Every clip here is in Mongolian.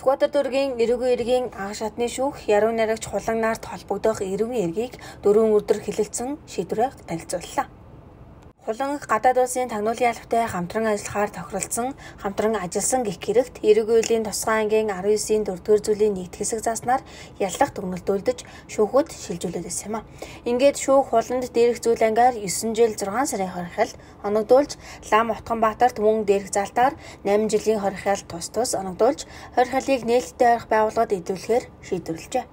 Сүхбаатар дүүргийн эрүүгийн иргэний ага шатны шүүх яруу найрагч хулан нарт холбогдох эрүүгийн иргэгийг 4 өдөр хилэлцэн шийдвэрээ танилцууллаа. Хулан гадаад улсын тагнуулын албатай хамтран ажиллахаар тохиролцсон, хамтран ажилласан гэх хэрэгт эрүүгийн үеийн тусгай ангийн 19-ийн 4-р зүйлийн нэгд хэсэг зааснаар яллах дүгнэлтүүлдэж шүүхөд шилжүүлээд байсан юм а. Ингээд шүүх хуланд дээрх зүйл ангаар 9 жил 6 сарын хорихол оногдуулж, Лам Утганбаатарт мөн дээрх залтаар 8 жилийн хорихол тус оногдуулж, хорихолыг нээлттэй орох байгууллагад идэвхлэхээр шийдвэрлэжээ.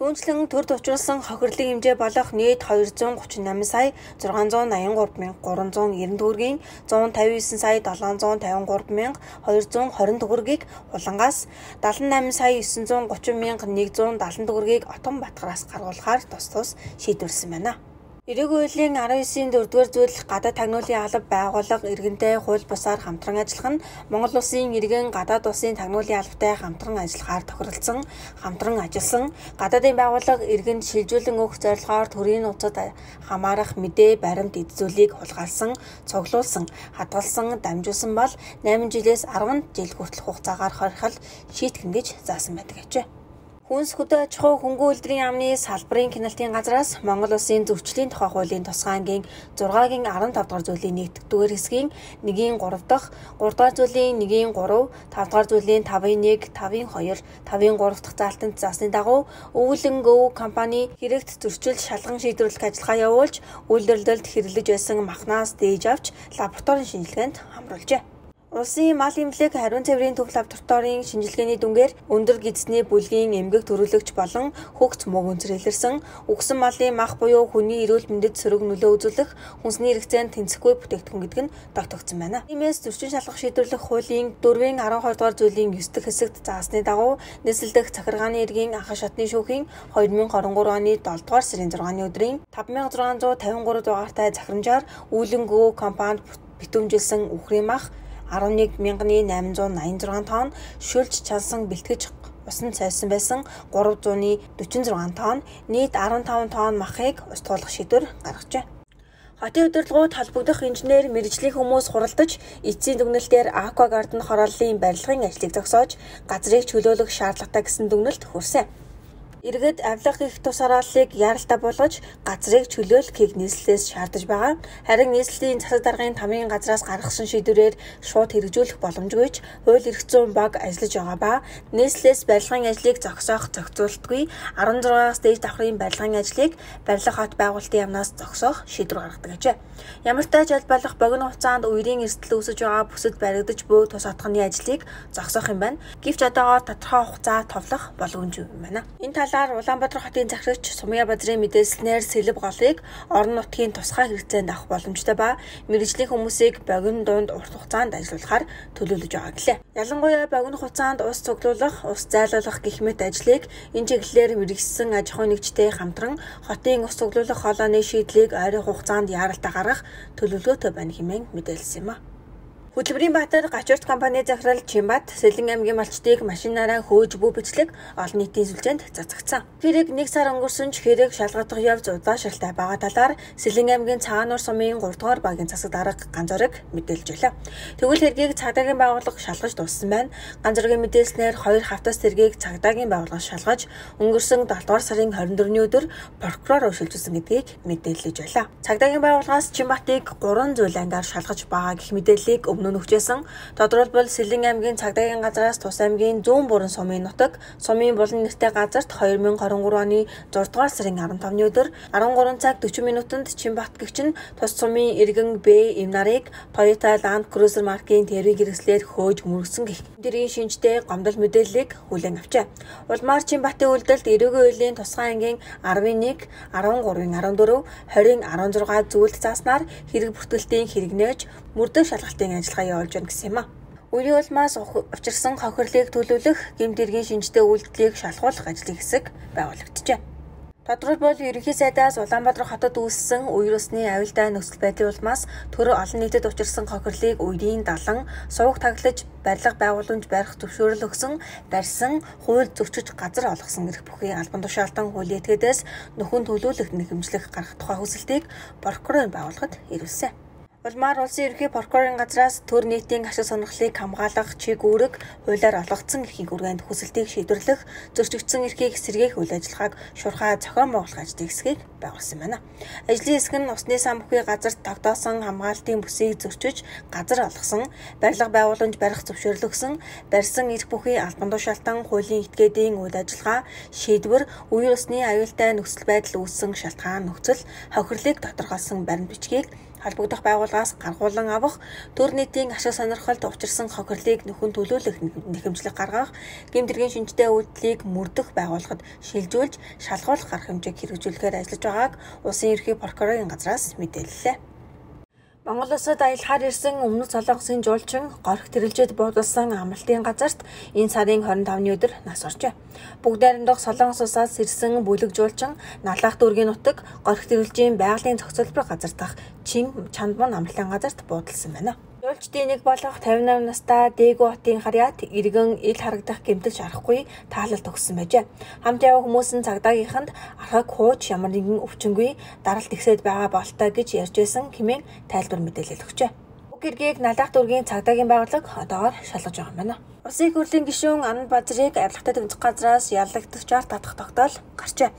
Түүнчлэн төрд учруулсан хохирлын хэмжээ болох нийт 238 сая 683,390 төгрөгийн 159 сая 753,220 төгрөгийг хулангаас 78 сая 930,170 төгрөгийг Отон Батгараас гаргуулахаар тус шийдвэрлсэн байна. Эрүүгийн үеийн 19-ийн 4-р зүйл гадаад тагнуулын алба байгууллага иргэнтэй хууль бусаар хамтран ажиллах нь Монгол улсын иргэн гадаад улсын тагнуулын албатай хамтран ажиллахаар тохиролцсон, хамтран ажилласан, гадаадын байгууллага иргэнд шилжүүлэн өгөх зорилгоор төрийн нууцад хамаарах мэдээ баримт эд зүйлийг хулгайлсан, цуглуулсан, хадгалсан, дамжуулсан бол 8 жилээс 10 жил хүртэлх хугацаагаар хорихол шийтгэн гэж заасан байдаг гэжээ. Хүнс хөдөө аж ахуй хөнгөн үйлдвэрийн яамны салбарын киналтын газраас Монгол улсын зөвчлийн тухай хуулийн тусгай ангийн 6-гийн 15 дахь зүйлийн 1-р хэсгийн 1-ийн 3 дахь, 3 дахь зүйлийн 1-ийн 3, 5 дахь зүйлийн 5-ийн 1, 5-ийн 2, 5-ийн 3 дахь заалтанд заасны дагуу Өвлөн Гөв компани хэрэгт зөрчил шалган шийдвэрлэх ажиллагаа явуулж, үйлдвэрлэлд хэрэглэж байсан махнаас дээж авч лабораторийн шинжилгээнд хамруулжээ. Улсын мал эмнэлэг хариун цэврийн төв лабораторийн шинжилгээний дүнгээр өндөр гидсний бүлгийн эмгэг төрүүлэгч болон хөгц мөг өнцөр илэрсэн үгсэн малын мах буюу хүний эрүүл мэндэд сөрөг нөлөө үзүүлэх хүнсний хэрэгцээнд тэнцэхгүй бүтээгдэхүүн гэдэг нь тогтогдсон байна. Тиймээс зөрчин шалгах шийдвэрлэх хуулийн 4-ийн 12 дугаар зүйлийн 9 дахь хэсэгт заасны дагуу нийслэлдэх захиргааны иргэний ага шатны шүүхийн 2023 оны 7 дугаар сарын 6-ны өдрийн 5653 дугаартай захирамжаар Өвлөн Гөв компанид битүүмжилсэн үхрийн мах 11,886 тонн, шүлж чалсан бэлтгэж усан цайсан байсан 346 тонн, нийт 15 тонн махыг устгуулах шийдвэр гаргажээ. Хотын удирдлагууд холбогдох инженер мэргэжлийн хүмүүс хуралдаж, эцсийн дүгнэлтээр Аквагарден хорооллын барилгын ажлыг зогсоож, газрыг чөлөөлөх шаардлагатай гэсэн дүгнэлт хүрсэн. Иргэд авилга их тус харааллыг яаралтай болгож газрыг чөлөөлөхийг нийслэлээс шаардаж байгаа. Харин нийслэлийн засаг даргын тамийн газраас гаргасан шийдвэрээр шууд хэрэгжүүлэх боломжгүй ч хууль эрх зүйн баг ажиллаж байгаа ба нийслэлээс барилгын ажлыг зогсоолтгүй 16-аас дээд давхрын барилгын ажлыг барилга хот байгуулалтын яамнаас зогсоох шийдвэр гаргадаг гэжээ. Ямар ч тач албалах богино хугацаанд үерийн эрсдэл үүсэж байгаа бүсэд баригдаж буй тус отгоны ажлыг зогсоох юм байна. Гэвч одоогоор тодорхой хугацаа товлох боломжгүй юм байна. Энэ талаар Улаанбаатар хотын захирагч Сумья Базрын мэдээлснээр сэлб голыг орон нутгийн тусгай хэрэгцээнд авах боломжтой ба мэргэжлийн хүмүүсийг богино дунд урт хугацаанд ажиллуулахаар төлөвлөж байгаа гэлээ. Ялангуяа богино хугацаанд ус цуглуулах, ус зайлуулах гэх мэт ажлыг энэ чиглэлээр мэргэжсэн аж ахуйн нэгжтэй хамтран хотын ус цуглуулах хоолойны шийдлийг ойрын хугацаанд яаралтай гаргах төлөвлөгөөтэй байна хэмээн мэдээлсэн юм а. Хөтөлбөрийн Баатар гачуурт компани захирал Чимбат Сэлэн аймгийн малчдыг машинаараа хөөж буй бичлэг олон нийтийн сүлжээнд цацагдсан. Хэрэг 1 сар өнгөрсөн ч хэрэг шалгагдах явц удаашралтай байгаа талаар Сэлэн аймгийн Цаануур сумын 3 дугаар багийн засаг дарга Ганзорог мэдээлж байлаа. Тэгвэл хэргийг цагдаагийн байгууллага шалгаж дууссан байна. Ганзорогийн мэдээлснээр 2 хавтас хэргийг цагдаагийн байгууллага шалгаж өнгөрсөн 7 дугаар сарын 24-ний өдөр прокурор шилжүүлсэн гэдгийг мэдээлж байлаа. Цагдаагийн байгууллагаас Чимбатыг 3 зүйл ангаар шалгаж байгаа гэх мэдээллийг өмнө нь өгчээсэн. Тодорхойлбол Сэлэн аймгийн цагдаагийн газраас Тус аймгийн зүүн бүрэн сумын нутаг, сумын булан нэртэй газарт 2023 оны 6 дугаар сарын 15-ны өдөр 13 цаг 40 минутанд Чимбат гэгч нь Тус сумын иргэн Б эм нарыг Toyota Land Cruiser маркийн тэрвийн хэрэгслээр хөөж мөргсөн гэх дэрийн шинжтэй гомдол мэдээллийг хүлээн авчээ. Улмаар Чимбатын үйлдэлд эрүүгийн үеийн тусгай ангийн 11, 13-ын 14, 20-ын 16 зүйлд зааснаар хэрэг бүртгэлтийн хэрэгнээж мөрдөх шалгалтын ажиллагаа явуулж байна гэсэн юм а. Үеийн улмаас учирсан хохирлыг төлөвлөх, гэмт хэргийн шинжтэй үйлдэлийг шалгуулах ажлын хэсэг байгуулагджээ. Тодорхойлбол ерөнхий сайдаас Улаанбаатар хотод үүссэн үер усны аюултай нөхцөл байдлын улмаас төр олон нийтэд учирсан хохирлыг үерийн далан, сувг таглаж, барилга байгууламж барих зөвшөөрөл өгсөн, барьсан, хууль зөрчиж газар олгосон эрх бүхий албан тушаалтан хуулийн этгээдээс нөхөн төлөвлөлт нэхэмжлэх гаргах тухай хүсэлтийг прокурорын байгууллагад ирүүлсэн. Улмаар улсын ерөнхий прокурорын газраас төр нийтийн ашиг сонирхлыг хамгаалах чиг үүрэг хуулиар олгогдсон эрхийг үргээнд хүсэлтийг шийдвэрлэх, зөрчигдсөн эрхийг сэргээх үйл ажиллагааг шуурхай зохион байгуулах ажлын хэсгийг байгуулсан байна. Ажлын хэсэг нь усны сан бүхий газарт тогтоосон хамгаалтын бүсийг зөрчиж, газар олгосон, барилга байгууламж барих зөвшөөрөл өгсөн, барьсан эрх бүхий албан тушаалтан хуулийн этгээдийн үйл ажиллагаа, шийдвэр, үеийн усны аюултай нөхцөл байдал үүссэн шалтгаан нөхцөл, хохирлыг тодорхойлсон баримт бичгийг холбогдох байгууллагаас гаргуулan авах, төр нийтийн ашиг сонирхолд учирсан хохирлыг нөхөн төлөөлөх нэхэмжлэг гаргах, гэмтэргийн шинжтэй үйлдэлийг мөрдөх байгууллагад шилжүүлж, шалгуулах арга хэмжээг хэрэгжүүлэхээр ажиллаж байгааг улсын ерөнхий прокурорын газраас мэдээллээ. Монгол улсад аялахаар ирсэн Өмнөд Солонгосын жуулчин горх тэрэлжид буудалсан амралтын газарт энэ сарын 25-ны өдөр нас оржээ. Бүгд найрамдах Солонгос улсаас ирсэн бүлэг жуулчин Налах дүүргийн нутаг горх тэрэлжийн байгалийн зохицуулбар газар дах Чандман амралтын газарт буудалсан байна. Жуулчдын нэг болох 58 настай Дээгүү хотын харьяат иргэн ил харагдах гэмтэлж арахгүй таалалт өгсөн байжээ. Хамт яваа хүмүүс нь цагдаагийнханд архаг хууч ямар нэгэн өвчнгүй даралт ихсээд байгаа болтой гэж ярьж байсан хэмээн тайлбар мэдээлэл өгчээ. Уг хэргийг Налах дүүргийн цагдаагийн байгууллага одоогоор шалгаж байгаа юм байна. Улсын их хурлын гишүүн Анна Базрыг авилгатай тэмцэх газраас ялагдагчаар татах тогтоол гарчээ.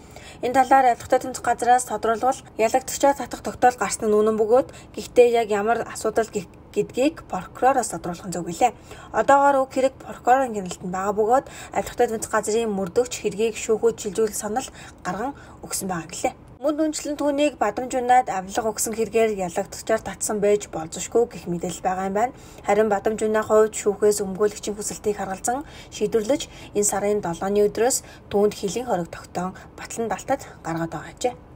Энэ талаар авилгатай тэмцэх газраас тодруулбал ялагдагчаар татах тогтоол гарсан нь үнэн бөгөөд гэхдээ яг ямар асуудал гэдгийг прокуророос тодруулах нь зөв гэлээ. Одоогоор уг хэрэг прокурорын гэрэлтэнд байгаа бөгөөд авилгатай тэмцэх газрын мөрдөгч хэргийг шүүхүүд шилжүүлэх санал гарган өгсөн байгаа гэлээ. Мөн дүнчлэн түүнийг Бадамжунаад авилга өгсөн хэрэгээр ялагдагчаар татсан байж болзошгүй гэх мэдээлэл байгаа юм байна. Харин Бадамжунаа хувьд шүүхээс өмгөөлөгчийн хүсэлтийг харгалзан шийдвэрлэж энэ сарын 7-ны өдрөөс түүнд хилийн хориг тогтоон Батлан Далтад гаргаад байгаа ажээ.